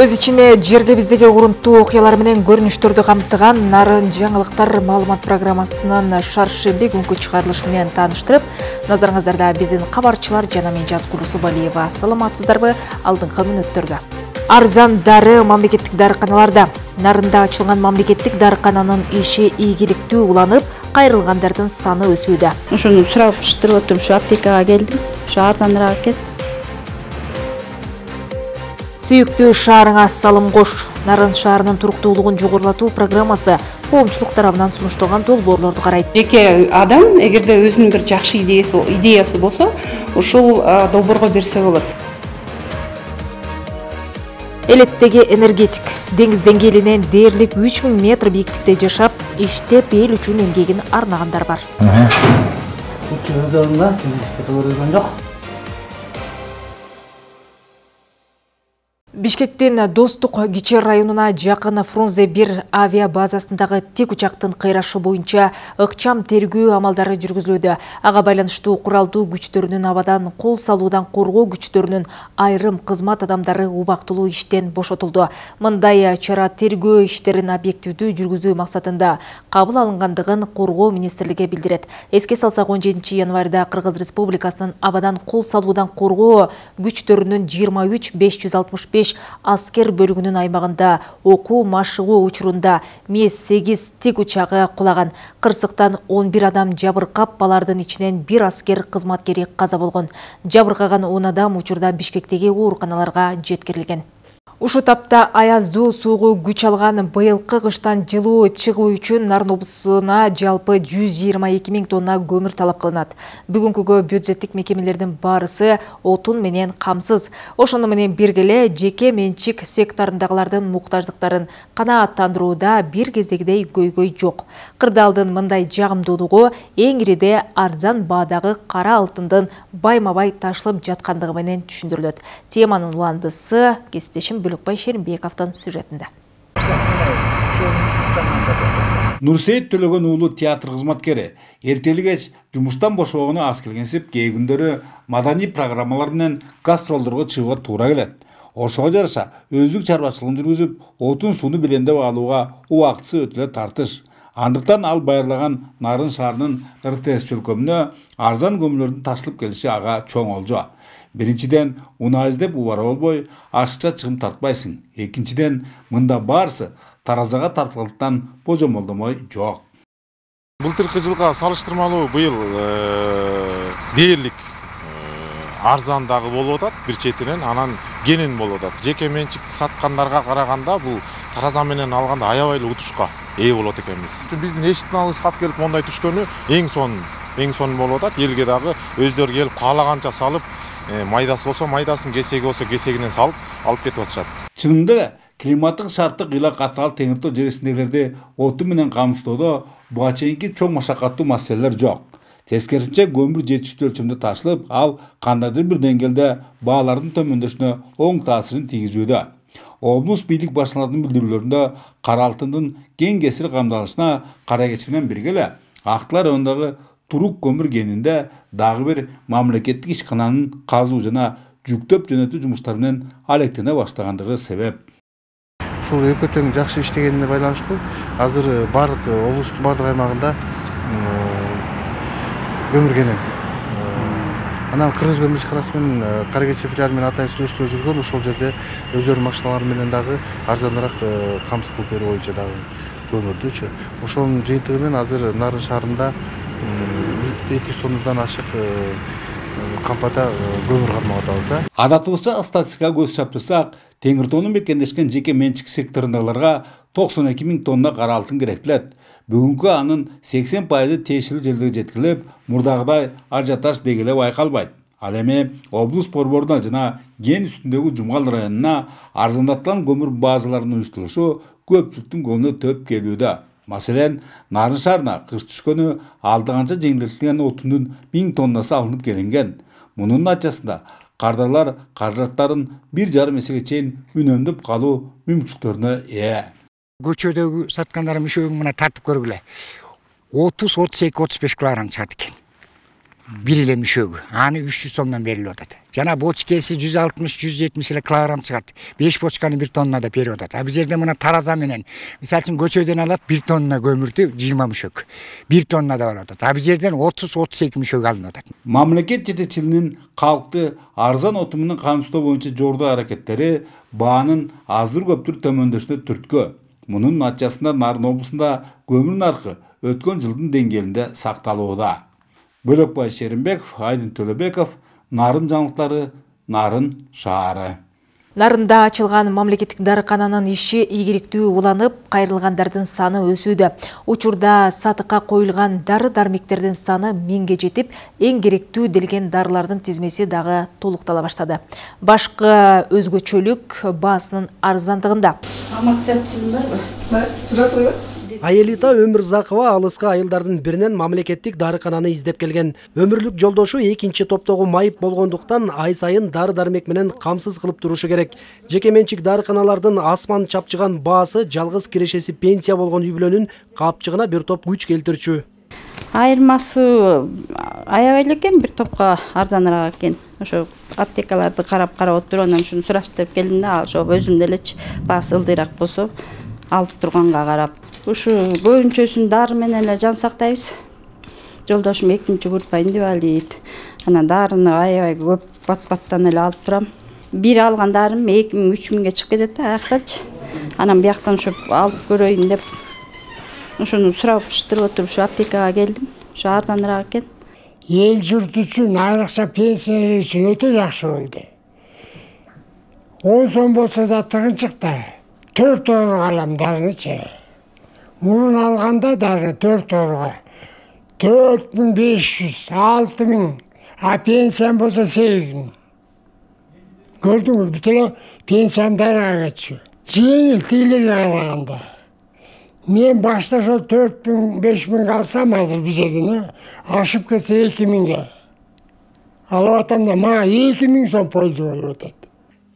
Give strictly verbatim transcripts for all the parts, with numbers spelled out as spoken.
Өз ичине жергебиздеги урунттуу окуялар менен көрүнүштөрдү камтыган Нарын жаңылыктар маалымат программасынын шаршемби күнкү чыгарылышы менен тааныштырып, назарыңыздарда биздин кабарчылар жана мен Жазгул Усубалиева. Саламатсыздарбы? Алдыңкы мүнөттөрдө. Арзан дары мамлекеттик дарыканаларда. Нарында ачылган мамлекеттик дарыкананын иши ийгиликтүү уланып, кайрылгандардын саны өсүүдө. Ошону сурап чыштырып отуруп, ушу аптекага келдим. Ушу арзаныраак экен. Сүйүктүү шаарыңа салым кош. Нарын шаарынын туруктуулугун жогорулатуу программасы коомчулук тарабынан сунушталган долбоорлорду карайт. Жеке адам эгерде өзүнүн бир жакшы идеясы идеясы болсо, ушул долбоорго берсе болот. Элеттеги энергетик деңиз деңгээлинен дээрлик үч миң метр бийиктикте жашап, иштеп эл үчүн эмгегин арнагандар бар. Бишкектин Достук Кичи районуна жакын Фрунзе бир авиа базасындагы тик учактын кыйрашы боюнча ыкчам тергөө амалдары жүргүзүлүүдө. Ага байланыштуу куралдуу күчтөрүнүн абадан кол салуудан коргоо күчтөрүнүн айрым кызмат адамдары убактылуу иштен бошотулду. Мындай чара тергөө иштерин объективдүү жүргүзүү максатында кабыл алынгандыгын Коргоо министрлиги билдирет. Эске салсак, он жетинчи январда Кыргыз Республикасынын абадан кол салуудан коргоо күчтөрүнүн жыйырма үч беш жүз алтымыш беш аскер бөлүгүнүн аймагында окуу машыгуу учурунда мес сегиз тик учагы кулаган. Кырсыктан он бир адам жабыркап, алардын ичинен бир аскер кызматкери каза болгон. Жабыркаган он адам учурда Бишкектеги ооруканаларга жеткирилген. Ушу тапта аяздуу суугу күч алган быйылкы кыштан жылуу чыгуу үчүн Нарын облусуна жалпы жүз жыйырма эки миң тонна көмүр талап кылынат. Бүгүнкүгө бюджеттик мекемелердин баарысы отун менен камсыз. Ошону менен бирге эле жеке менчик секторундагылардын муктаждыктарын канааттандырууда бир кездегидей көйгөй жок. Кырдаалдын мындай жагымдуулугу эң ириде арзан баадагы кара алтындын байма-бай ташылып жаткандыгы менен түшүндүрүлөт. Теманын уландысы кесиптешим Бүлүкбай Шеримбековдун сюжетинде. Нурсейит Төлөгөн уулу театр кызматкери. Эртели кеч жумуштан бошогону аз келгенсип, кээ күндөрү маданий программалар менен гастролдорго чыгууга туура келет. Ошого жараша өздүк чарбачылыгын жүргүзүп, отун сууну белемдеп алууга убактысы өтө тартыш. Андыктан ал байырлаган Нарын шаарынын эр тэ эс чөлкөмүнө арзан көмүрлөрдүн ташылып келиши ага чоң олжо. Биринчиден, уна издеп убара болбой, ашыкча чыгым тартпайсың. Экинчиден, мында баарысы таразага тартылгандыктан божомолдомой жок. Былтыркы жылга салыштырмалуу быйыл дээрлик арзан дагы болуп атат, бир четинен, анан кенен болуп атат. Жеке менчик саткандарга караганда бул тараза менен алганда аябай эле утушка ээ болот экенбиз. Биздин эшиктин алдыбызга кап келип мондай түшкөнү эң сонун, эң сонун болуп атат. Элге дагы өздөрү келип каалаганча салып, майдасы болсо майдасын, кесеги болсо кесегинен салып алып кетип атышат. Чынында эле климаттык шарттык ыйла катаал Теңир Тоо жересиндегилерди отун менен камсыздоодо буга чейинки чоң машакаттуу маселелер жок. Тескерисинче көмүр жетиштүү өлчөмдө ташылып, ал кандайдыр бир деңгээлде баалардын төмөндөшүнө оң таасирин тийгизүүдө. Облус бийлик башчыларынын билдирүүлөрүндө кара алтындын кең кесир камдалышына кара кечи менен бирге эле Актылар районундагы Турук көмүр кенинде дагы бир мамлекеттик ишкананын казуу жана жүктөп жөнөтүү жумуштары менен алектене баштагандыгы себеп. Ушул экөө тең жакшы иштегенине байланыштуу азыр бардык облустун бардык аймагында көмүр кенен. Анан Кыргыз көмүр ишканасы менен Кара Кечи филиалы менен атайын сүйлөшмө жүргөн, ошол жерде өздөрүнүн машиналары менен дагы арзаныраак камсыз кылып берүү боюнча дагы көмүрдүчү. Ошонун жыйынтыгы менен азыр Нарын шаарында эки жүз тоннадан ашык кампада көмүр кармап атабыз. Адатыбызча статистикага көз чаптырсак, Теңир Тоонун мекендешкен жеке менчик секторундагыларга токсон эки миң тонна кара алтын керектелет. Бүгүнкү анын сексен пайызы тиешелүү жерлерге жеткирилип, мурдагыдай ажиотаж деги эле байкалбайт. Ал эми облус борборуна жана Ген үстүндөгү Жумгал районуна арзандатылган көмүр базаларынын уюштурулушу көпчүлүктүн көңүлүнө төп келүүдө. Маселен, Нарын шаарына кыш түшкөнү алдыганча жеңилдетилген отундун миң тоннасы алынып келинген. Мунун натыйжасында кардарлар каражаттарын бир жарым эсеге чейин үнөмдөп калуу мүмкүнчүлүктөрүнө ээ. Көчөдөгү саткандарым үшөөгүн мына тартып көргүлө. отуз, отуз эки, отуз беш килограмм чыгат экен. Бир эле мүшөгү. Аны үч жүз сомдон берилип атат. Жана бочкеси жүз алтымыш жүз жетимиш эле килограмм чыгат. беш бочканы бир тоннада берип атат. А бул жерде мына тараза менен мисалы үчүн көчөдөн алат бир тонна көмүрдү жыйырма мушөк. бир тоннада болуп атат. А бул жерден отуз отуз эки мушөк алынып атат. Мамлекет жетекчилигинин калкты арзан отун менен камсыздоо боюнча жордуу аракеттери баанын аздыр көптүр төмөндөшүнө түрткү. Мунун натыйжасында Нарын облусунда көмүр наркы өткөн жылдын деңгээлинде сакталууда. Бөлөкбай Шеримбеков, Айдын Төлөбеков, Нарын жаңылыктары, Нарын шаары. Нарында ачылган мамлекеттик дарыкананын иши ийгиликтүү уланып, кайрылгандардын саны өсүүдө. Учурда сатыкка коюлган дары-дармектердин саны миңге жетип, эң керектүү делген дарылардын тизмеси дагы толуктала баштады. Башкы өзгөчөлүк баасынын арзандыгында. Максатсыз барбы? Бар, турасызбы? Аелита Өмүрзакова алыска айылдардын биринен мамлекеттик дарыкананы издеп келген. Өмүрлүк жолдошу экинчи топтогу майып болгондуктан ай сайын дары-дармек менен камсыз кылып турушу керек. Жеке менчик дарыканалардын асман чапчыган баасы жалгыз кирешеси пенсия болгон үй бүлөнүн капчыгына бир топ күч келтирчү. Айырмасы аябай эле экен, бир топко арзаныраак экен. Ошо аптекаларды карап карап отуруп, анан ушуну сураштырып келдим да, ошо өзүм делечи баасы ылдыйраак болсо алып турганга карап. Ушу көбүнчөсүн дары менен эле жан сактайбыз. Жолдошум экинчи курпайын деп алып, анан дарыны аябай көп бат-баттан эле алып турам. Бир алган дарым эки миң үч миңге чыгып кетет да аяктачы. Анан бияктан ушу алып көрөйүн деп ошону сураштырып отуруп ушу аптекага келдим. Ушу арзаныраак экен. Эл журт үчүн, айрыкча пенсия үчүн өтө жакшы болду. он сом болсо да тыгынчык да. төрт орго алам дарынычы. Мурун алганда дары төрт орго төрт миң беш жүз, алты миң, а пенсиям болсо сегиз миң. Көрдүңүз, бүт эле пенсиям дарыга кетчү. Жеңил тигилерге караганда. Мен башта ошо төрт миң, беш миң алсам азыр бул жерден, ашып кетсе эки миңге. Алып атам да, мага эки миң сом польза болуп атат.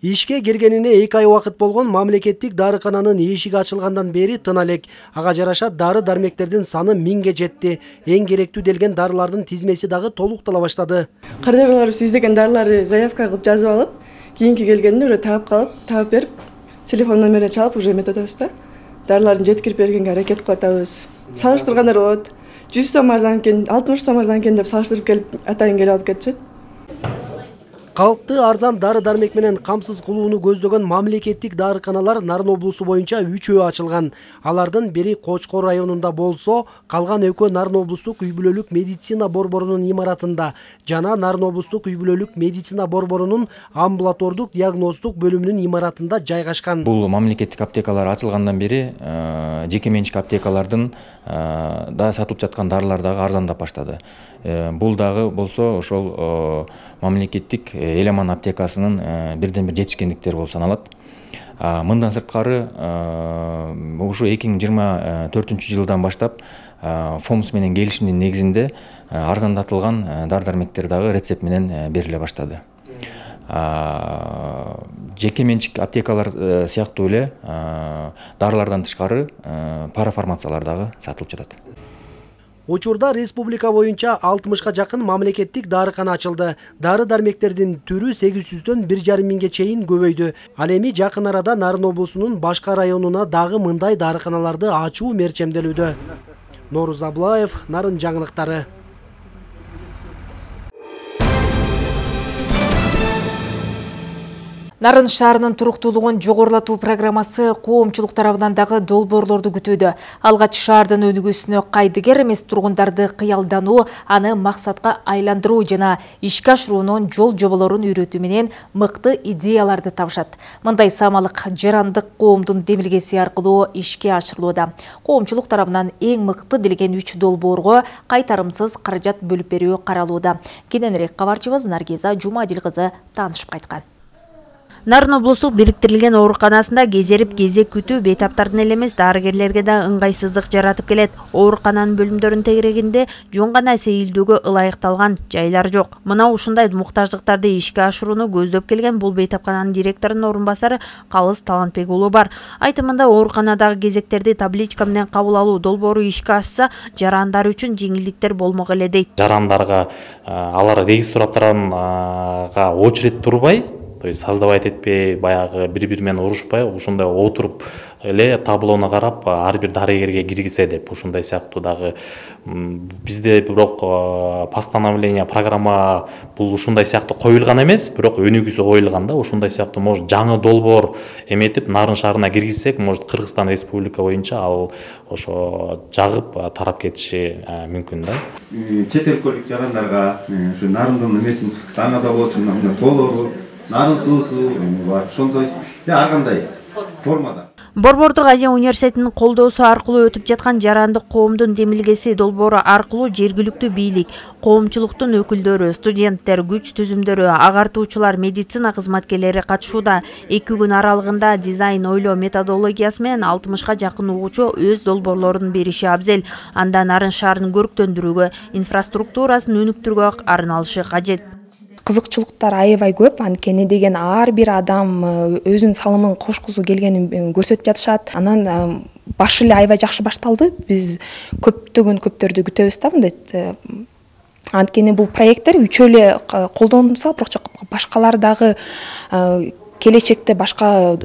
Ишке киргенине эки ай убакыт болгон мамлекеттик дарыкананын эшиги ачылгандан бери тына элек. Ага жараша дары-дармектердин саны миңге жетти. Эң керектүү делген дарылардын тизмеси дагы толуктала баштады. Кардарларыбыз издеген дарыларды заявка кылып жазып алып, кийинки келгенде уже таап калып, таап берип, телефон номерин чалып уже эметип атабыз да. Дарыларын жеткирип бергенге аракет кылып атабыз. Салыштыргандар болот. жүз сом арзан экен, алтымыш сом арзан экен деп салыштырып келип, атайын келип алып кетишет. Калкты арзан дары-дармек менен камсыз кылууну көздөгөн мамлекеттик дарыканалар Нарын облусу боюнча үчөө ачылган. Алардын бири Кочкор районунда болсо, калган экөө Нарын облустук үй бүлөлүк медицина борборунун имаратында жана Нарын облустук үй бүлөлүк медицина борборунун амбулатордук диагноздук бөлүмүнүн имаратында жайгашкан. Бул мамлекеттик аптекалар ачылгандан бери жеке менчик аптекалардын да сатылып жаткан дарылар дагы арзандап баштады. Бул дагы болсо ошол мамлекеттик эл аман аптекасынын бирден бир жетишкендиктери болуп саналат. Мындан сырткары ушу эки миң жыйырма төртүнчү жылдан баштап ФОМС менен келишимдин негизинде арзандатылган дары-дармектер дагы рецепт менен бериле баштады. Жеке менчик аптекалар сыяктуу эле дарылардан тышкары парафармациялар дагы сатылып жатат. Учурда республика боюнча алтымышка жакын мамлекеттик дарыкана ачылды. Дары-дармектердин түрү сегиз жүздөн бир жарым миңге чейин көбөйдү. Ал эми жакын арада Нарын облусунун башка районуна дагы мындай дарыканаларды ачуу мерчемделүүдө. Норuz Аблаев, Нарын жаңылыктары. Нарын шаарынын туруктуулугун жогорулатуу программасы коомчулук тарабынан дагы долбоорлорду күтүүдө. Алгач шаардын өнүгүүсүнө кайдыгер эмес тургундарды кыялдануу, аны максатка айландыруу жана ишке ашыруунун жол жоболорун үйрөтүү менен мыкты идеяларды табышат. Мындай самалык жарандык коомдун демилгеси аркылуу ишке ашырылууда. Коомчулук тарабынан эң мыкты делген үч долбоорго кайтарымсыз каражат бөлүп берүү каралууда. Кененирээк кабарчыбыз Наргиза Жумадил кызы таанышып кайткан. Нарын облустук бириктирилген ооруканасында кезерип кезек күтүү бейтаптардын эле эмес дарыгерлерге да ыңгайсыздык жаратып келет. Оорукананын бөлүмдөрүнүн тегерегинде жөн гана сейилдөөгө ылайыкталган жайлар жок. Мына ушундай муктаждыктарды ишке ашырууну көздөп келген бул бейтапкананын директорунун орун басары Калыс Талантбек уулу бар. Айтымында ооруканадагы кезектерди табличка менен кабыл алуу долбоору ишке ашса, жарандар үчүн жеңилдиктер болмок эле дейт. Жарандарга алар регистратуранга очередь турбай, то есть создавать этпей, баягы бири-бири менен урушпай, ушундай отуруп эле таблону карап ар бир дарыгерге киргизе деп ушундай сыяктуу дагы бизде бирок постановление, программа бул ушундай сыяктуу коюлган эмес, бирок өнүгүүсү коюлган да. Ушундай сыяктуу может жаңы долбоор эметип Нарын шаарына киргизсек, может Кыргызстан Республика боюнча ал ошо жагып тарап кетиши мүмкүн да. Чет өлкөлүк жарандарга ушу Нарындын эмесин жаңы заводчун толору, Нарын суусу бар. Ошондой ар кандай формада. Борбордук Азия университетинин колдоосу аркылуу өтүп жаткан жарандык коомдун демилгеси долбоору аркылуу жергиликтүү бийлик, коомчулуктун өкүлдөрү, студенттер, күч түзүмдөрү, агартуучулар, медицина кызматкерлери катышууда. эки күн аралыгында дизайн ойлоо методологиясы менен алтымышка жакын угуучу өз долбоорлорун бериши абзел. Анда Нарын шаарын көрктөндүрүүгө, инфраструктурасын өнүктүрүүгө арналышы кажет. Кызыкчылыктар аябай көп, анткени деген ар бир адам өзүнүн салымын кошкусу келгенин көрсөтүп жатышат. Анан баш эле аябай жакшы башталды. Биз көптөгөн көптөрдү күтөбүз да мындай. Анткени бул проекттер үчөө эле колдонулса, бирок башкалар дагы келечекте башка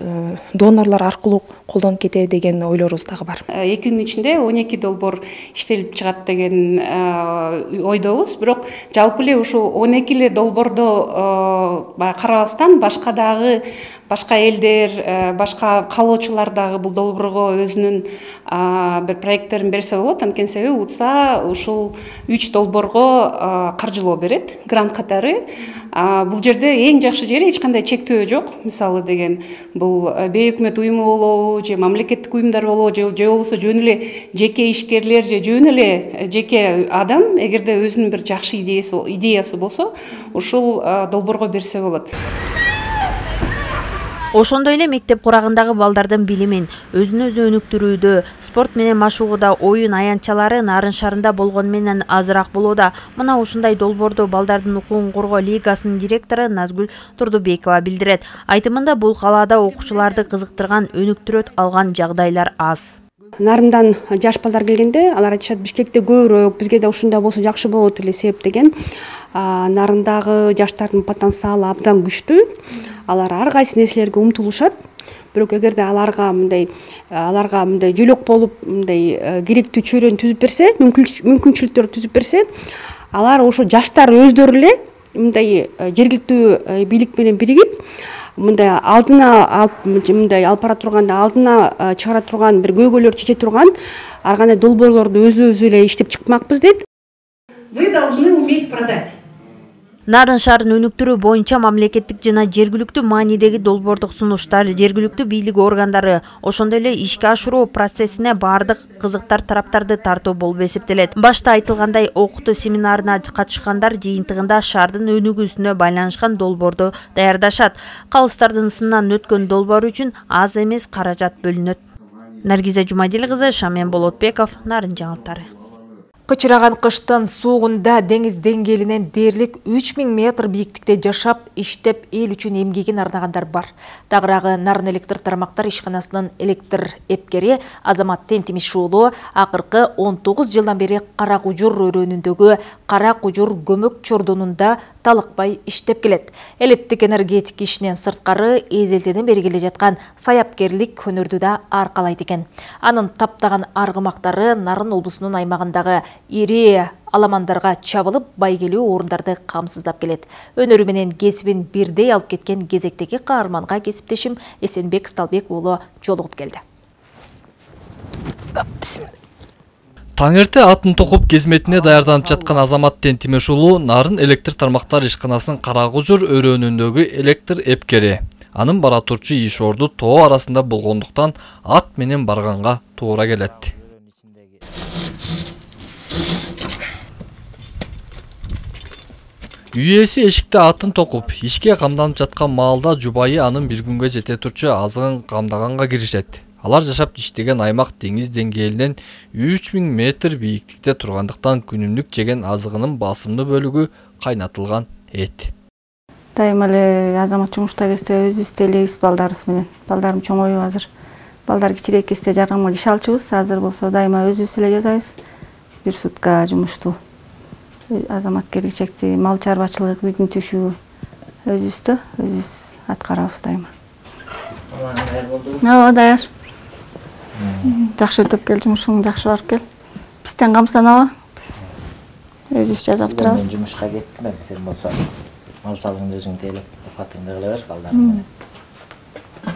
донорлор аркылуу колдонуп кетеби деген ойлорубуз дагы бар. эки күнүн ичинде он эки долбоор иштелип чыгат деген ойдобуз. Бирок жалпы эле ушул он эки эле долбоорду карабастан башка дагы башка элдер, башка каалоочулар дагы бул долбоорго өзүнүн бир проекттерин берсе болот. Анткени себеби УТСА ушул үч долбоорго каржылоо берет, грант катары. Бул жерде эң жакшы жери эч кандай чектөө жок. Мисалы деген бул бейөкмөт уюму болобу, же мамлекеттик уюмдар болобу, же болбосо жөн эле жеке ишкерлер, же жөн эле жеке адам эгерде өзүнүн бир жакшы идеясы болсо, ушул долбоорго берсе болот. Ошондой эле мектеп курагындагы балдардын билимин, өзүн өзү өнүктүрүүдө, спорт менен машыгууда оюн аянтчалары Нарын шаарында болгону менен азыраак болууда. Мына ушундай долбоорду балдардын укугун коргоо лигасынын директору Назгүл Турдубекова билдирет. Айтымында бул калаада окуучуларды кызыктырган, өнүктүрөт алган жагдайлар аз. Нарындан жаш балдар келгенде алар айтышат Бишкекте көбүрөөк, бизге да ушундай болсо жакшы болот эле себеп деген. Нарындагы жаштардын потенциалы абдан күчтүү. Алар ар кайсы нерселерге умтулушат. Бирок эгерде аларга мындай аларга мындай жөлөк болуп, мындай керектүү чөйрөнү түзүп берсе, мүмкүнчүлүктөрдү түзүп берсе, алар ошо жаштар өздөрү эле мындай жергиликтүү бийлик менен биригип, мындай алдына алып мындай алып бара турганда алдына чыгара турган бир көйгөйлөрдү чече турган ар кандай долбоорлорду өзүбүз эле иштеп чыкмакпыз дейт. Вы должны уметь продать. Нарын шаарын өнүктүрүү боюнча мамлекеттик жана жергиликтүү маанидеги долбоордук сунуштар, жергиликтүү бийлик органдары, ошондой эле ишке ашыруу процессине баардык кызыктар тараптарды тартуу болуп эсептелет. Башта айтылгандай, окутуу семинарына катышкандар жыйынтыгында шаардын өнүгүүсүнө байланышкан долбоорду даярдашат. Калыстардын сынынан өткөн долбоор үчүн аз эмес каражат бөлүнөт. Наргиза Жумадил кызы, Шамен Болотбеков, Нарын жаңылыктары. Кычыраган кыштын суугунда деңиз деңгээлинен дээрлик үч миң метр бийиктикте жашап, иштеп, эл үчүн эмгегин арнагандар бар. Тагыраагы Нарын электр тармактар ишканасынын электр эпкери Азамат Тентимиш уулу акыркы он тогуз жылдан бери Кара Кужур өрөөнүндөгү Кара Кужур көмөк чордонунда талыкпай иштеп келет. Элеттик энергетик ишинен сырткары эзелтеден бери келе жаткан саяпкерлик өнөрдү да аркалайт экен. Анын таптаган аргымактары Нарын облусунун аймагындагы ири аламандарга чабылып, байгелүү орундарды камсыздап келет. Өнөрү менен кесибин бирдей алып кеткен кезектеги каарманга кесиптешим Эсенбек Сталбек уулу жолугуп келди. Таңерте атын токуп кызметине даярданып жаткан Азамат Тентимиш уулу Нарын электр тармактар ишканасынын Кара Кужур өрөөнүндөгү электр эпкери. Анын бара турчу иш орду тоо арасында болгондуктан ат менен барганга туура келет. Үй ээси эшикте атын токуп, ишке камданып жаткан маалда жубайы анын бир күнгө жете турчу азыгын камдаганга киришет. Алар жашап иштеген аймак деңиз деңгээлинен үч миң метр бийиктикте тургандыктан күнүмдүк жеген азыгынын басымдуу бөлүгү кайнатылган эт. Дайыма эле Азамат жумушта кезде өзүбүз элебиз балдарыбыз менен. Балдарым чоңоюп азыр. Балдар кичирээк кезде жардамга иш алчубыз. Азыр болсо дайыма өзүбүз эле жасайбыз. Бир сутка жумушту. Азамат келечекти мал чарбачылык, үйдүн түшүү өзүбүздө өзүбүз аткарабыз дайыма. Ооба, даяр. Жакшы өтүп кел, жумушуң жакшы барып кел. Бизден камсанаба. Биз өзүбүз жасап турабыз. Мен жумушка кеттим, эми сен болсо мал салыңды өзүң тейлеп, окатыңды кыла бер, балдарың.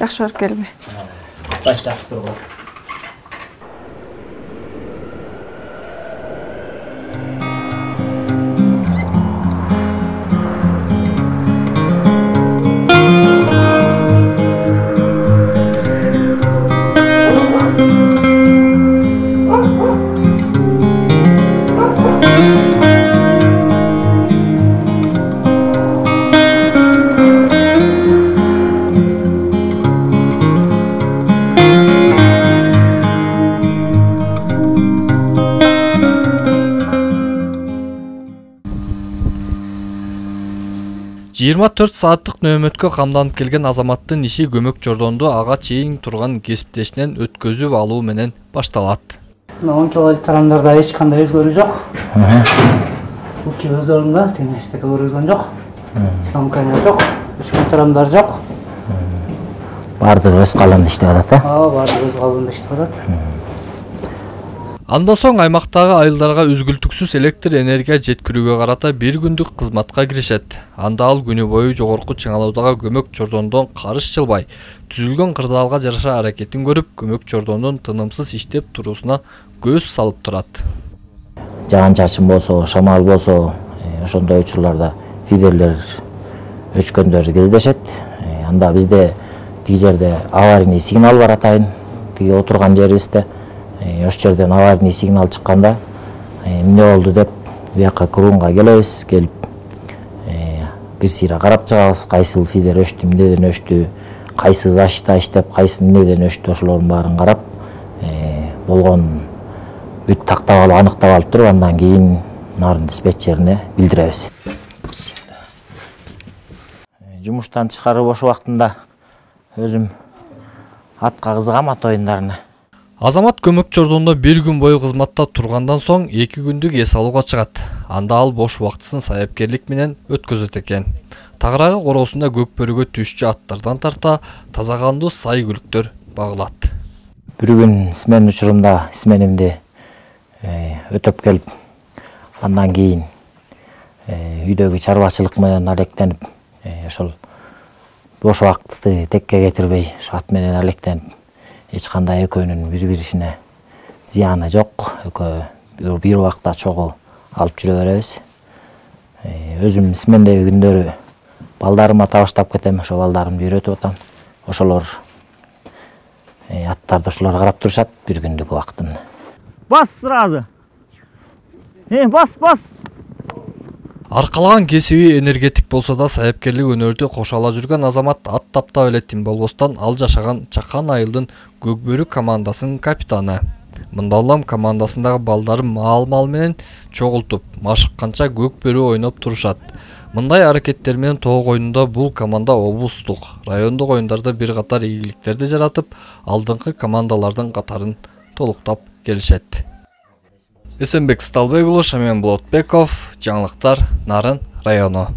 Жакшы барып келби. Баш жакшы тургула. жыйырма төрт сааттык нөөмөткө камданып келген Азаматтын иши көмөк жордонду ага чейин турган кесиптешинен өткөзүп алуу менен башталат. он килолит тарамдарда эч кандай өзгөрүү жок. Уки өз орунда, теңештеги көргөзгөн жок. Сомканя жок, үчкөн тарамдар жок. Бардыгы өз калыбында иштеп атат, э? Ооба, бардыгы өз калыбында иштеп атат. Андан соң аймактагы айылдарга үзгүлтүксүз электр энергия жеткирүүгө карата бир күндүк кызматка киришет. Анда ал күнү бою жогорку чыңалуудагы көмөк жордондон карыш чылбай, түзүлгөн кырдаалга жараша аракетин көрүп, көмөк жордондун тынымсыз иштеп туруусуна көз салып турат. Жаан чачын болсо, шамал болсо, ошондой учурларда фидерлер өчкөндөр кездешет. Анда бизде тиги жерде аварийный сигнал бар атайын, тиги отурган жерибизде. Ош жерден аварийный сигнал чыкканда эмне болду деп бияка крунга келебиз, келип бир сыйра карап чыгабыз, кайсыл фидер өчтү, эмнеден өчтү, кайсы дашта иштеп, кайсы эмнеден өчтү, ошолордун баарын карап болгон бүт тактап алып, аныктап алып туруп, андан кийин нарын диспетчерине билдиребиз. Жумуштан тышкары бош убактында өзүм атка кызыгам, ат оюндарына. Азамат көмөк жордондо бир күн бою кызматта тургандан соң эки күндүк эс алууга чыгат. Анда ал бош убактысын саяпкерлик менен өткөзөт экен. Тагыраагы короосунда көк бөрүгө түшчү аттардан тарта таза кандуу сай күлүктөр багылат. Бир күн смен учурумда сменимди өтөп келип, андан кийин үйдөгү чарбачылык менен алектенип, ошол бош убакытты текке кетирбей, ошо ат менен алектенип, эч кандай экөөнүн бири-бирисине зыяны жок. Экөө бир убакта чогуу алып жүрө беребиз. Өзүм смендеги күндөрү балдарыма табыштап кетем, ошо балдарымды үйрөтүп атам. Ошолор аттарды ошолор карап турушат бир күндүк убактымды. Бас сразу. Э, бас, бас. Аркалаган кесиби энергетик болсо да саяпкерлик өнөрдү кошо ала жүргөн Азамат ат таптап эле тим болбостон ал жашаган Чакан айылдын Көкбөрү командасынын капитаны. Мындалам командасындагы балдары маал-мал менен чогултуп, машыкканча Көкбөрү ойноп турушат. Мындай аракеттер менен тоог оюнунда бул команда облустук, райондук оюндарда бир катар ийгиликтерди жаратып, алдыңкы командалардын катарын толуктап келишет. Эсенбек Сталбек уулу, Шамен Болотбеков, жаңылыктар, Нарын району.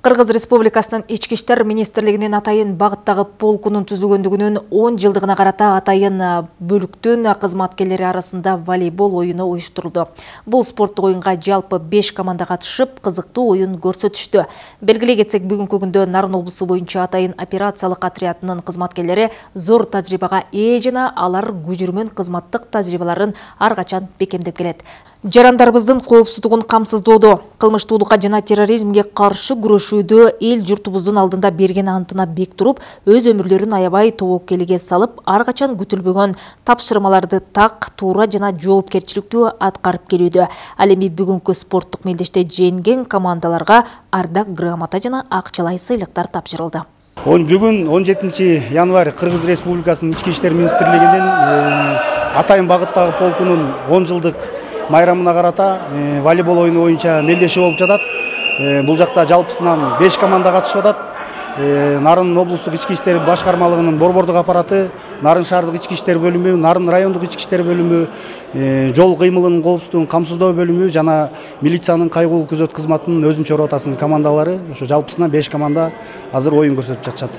Кыргыз Республикасынын Ички иштер министрлигинин атайын багыттагы полкунун түзүлгөндүгүнүн он жылдыгына карата атайын бөлүктүн кызматкерлери арасында волейбол оюну уюштурулду. Бул спорттук оюнга жалпы беш команда катышып, кызыктуу оюн көрсөтүштү. Белгилей кетсек, бүгүнкү күндө Нарын облусу боюнча атайын операциялык отрядынын кызматкерлери зор тажрыйбага ээ жана алар күжүрмөн кызматтык тажрыйбаларын ар качан бекемдеп келет. Жарандарыбыздын коопсуздугун камсыздоодо, кылмыштуулукка жана терроризмге каршы күрөшүүдө эл журтубуздун алдында берген антына бек туруп, өз өмүрлөрүн аябай тобокелге салып, ар качан күтүлбөгөн тапшырмаларды так, туура жана жоопкерчиликтүү аткарып келүүдө. Ал эми бүгүнкү спорттук мелдеште жеңген командаларга ардак грамота жана акчалай сыйлыктар тапшырылды. Бүгүн он жетинчи январь Кыргыз Республикасынын ички иштер министрлигинин Атайын багыттагы полкунун он жылдык майрамына карата волейбол оюну боюнча мелдеши болуп жатат. Бул жакта жалпысынан беш команда катышып атат. Нарын облустук ички иштер башкармалыгынын борбордук аппараты, Нарын шаардык ички иштер бөлүмү, Нарын райондук ички иштер бөлүмү, жол кыймылынын коопсуздугун камсыздоо бөлүмү жана милициянын кайгылуу күзөт кызматынын өзүнчө ротасынын командалары, ошо жалпысынан беш команда азыр оюн көрсөтүп жатышат.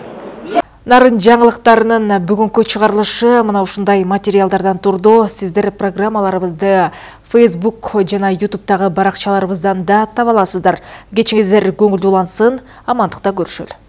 Нарын жаңылыктарынын бүгүнкү чыгарылышы мына ушундай материалдардан турду. Сиздер программаларыбызды Facebook жана YouTube'тагы баракчаларыбыздан да таба аласыздар. Кечиңиздер көңүлдүү улансын, амандыкта көрүшөлү.